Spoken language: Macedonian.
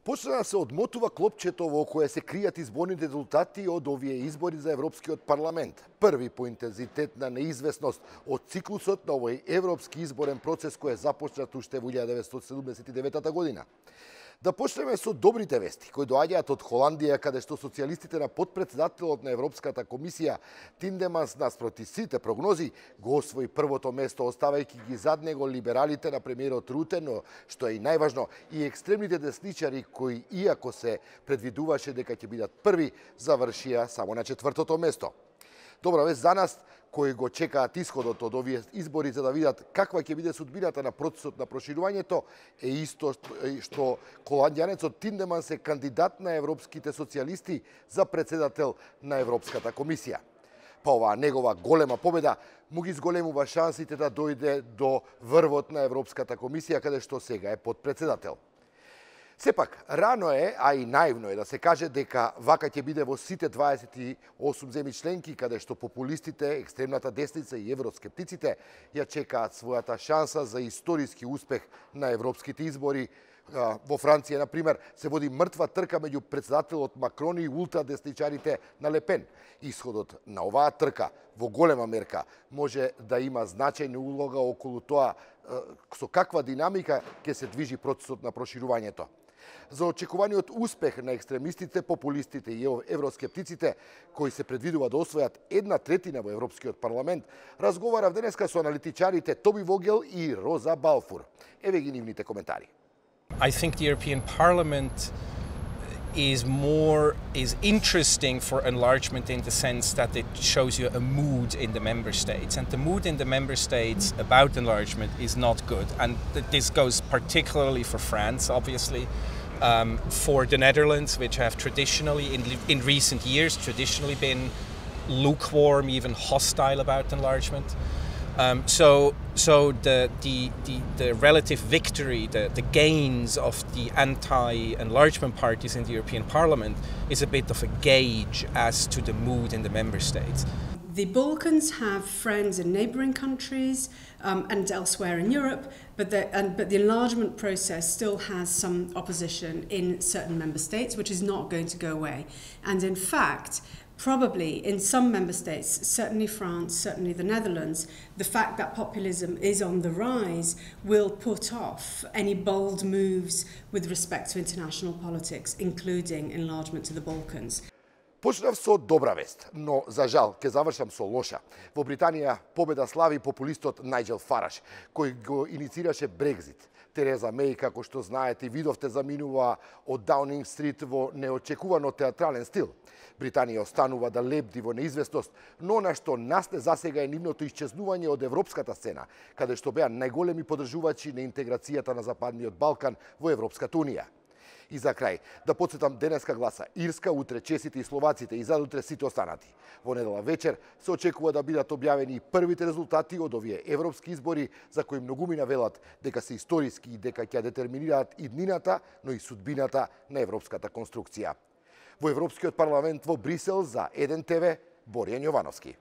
Почна да се одмотува клопчето во кое се кријат изборните резултати од овие избори за Европскиот парламент. Први по интензитет на неизвестност од циклусот на овој европски изборен процес кој е започнат уште во 1979 година. Да почнеме со добрите вести, кои доаѓаат од Холандија, каде што социјалистите на подпредседателот на Европската комисија Тиндеманс наспроти сите прогнози го освои првото место, оставајќи ги зад него либералите на премиерот Руте, но што е и најважно, и екстремните десничари кои, иако се предвидуваше дека ќе бидат први, завршија само на четвртото место. Добра вест за нас, кои го чекаат исходот од овие избори за да видат каква ќе биде судбината на процесот на проширувањето, е исто што холандјанецот Тиндеманс е кандидат на европските социјалисти за председател на Европската комисија. Па оваа негова голема победа му ги зголемува шансите да дојде до врвот на Европската комисија, каде што сега е подпредседател. Сепак, рано е, а и наивно е да се каже дека вака ќе биде во сите 28 земји членки, каде што популистите, екстремната десница и евроскептиците ја чекаат својата шанса за историски успех на европските избори. Во Франција, например, се води мртва трка меѓу председателот Макрон и ултрадесничарите на Ле Пен. Исходот на оваа трка во голема мерка може да има значајна улога околу тоа со каква динамика ќе се движи процесот на проширувањето. За очекуваниот успех на екстремистите, популистите и евроскептиците, кои се предвидува да освојат 1/3 во Европскиот парламент, разговарав денеска со аналитичарите Тоби Вогел и Роза Балфур. Еве ги нивните коментари. I think the European Parliament is interesting for enlargement in the sense that it shows you a mood in the member states, and the mood in the member states about enlargement is not good, and this goes particularly for France, obviously, for the Netherlands, which have traditionally in recent years been lukewarm, even hostile about enlargement. So the relative victory, the gains of the anti-enlargement parties in the European Parliament is a bit of a gauge as to the mood in the member states. The Balkans have friends in neighbouring countries and elsewhere in Europe, but the enlargement process still has some opposition in certain member states, which is not going to go away. And in fact, probably in some member states, certainly France, certainly the Netherlands, the fact that populism is on the rise will put off any bold moves with respect to international politics, including enlargement to the Balkans. Почнав со добра вест, но за жал ќе завршам со лоша. Во Британија победа слави популистот Најджел Фараш, кој го иницираше Брекзит. Тереза Меј, како што знаете и видовте, заминува од Даунинг Стрит во неочекувано театрален стил. Британија останува да лебди во неизвестност, но на што насне засега е нивното исчезнување од европската сцена, каде што беа најголеми подржувачи на интеграцијата на Западниот Балкан во Европската Унија. И за крај, да подсетам, денеска гласа Ирска, утре чесите и словаците и задутре сите останати. Во недела вечер се очекува да бидат објавени првите резултати од овие европски избори, за кои многумина велат дека се историски и дека ќе детерминираат иднината, но и судбината на европската конструкција. Во Европскиот парламент во Брисел за 1 ТВ, Боријан Јовановски.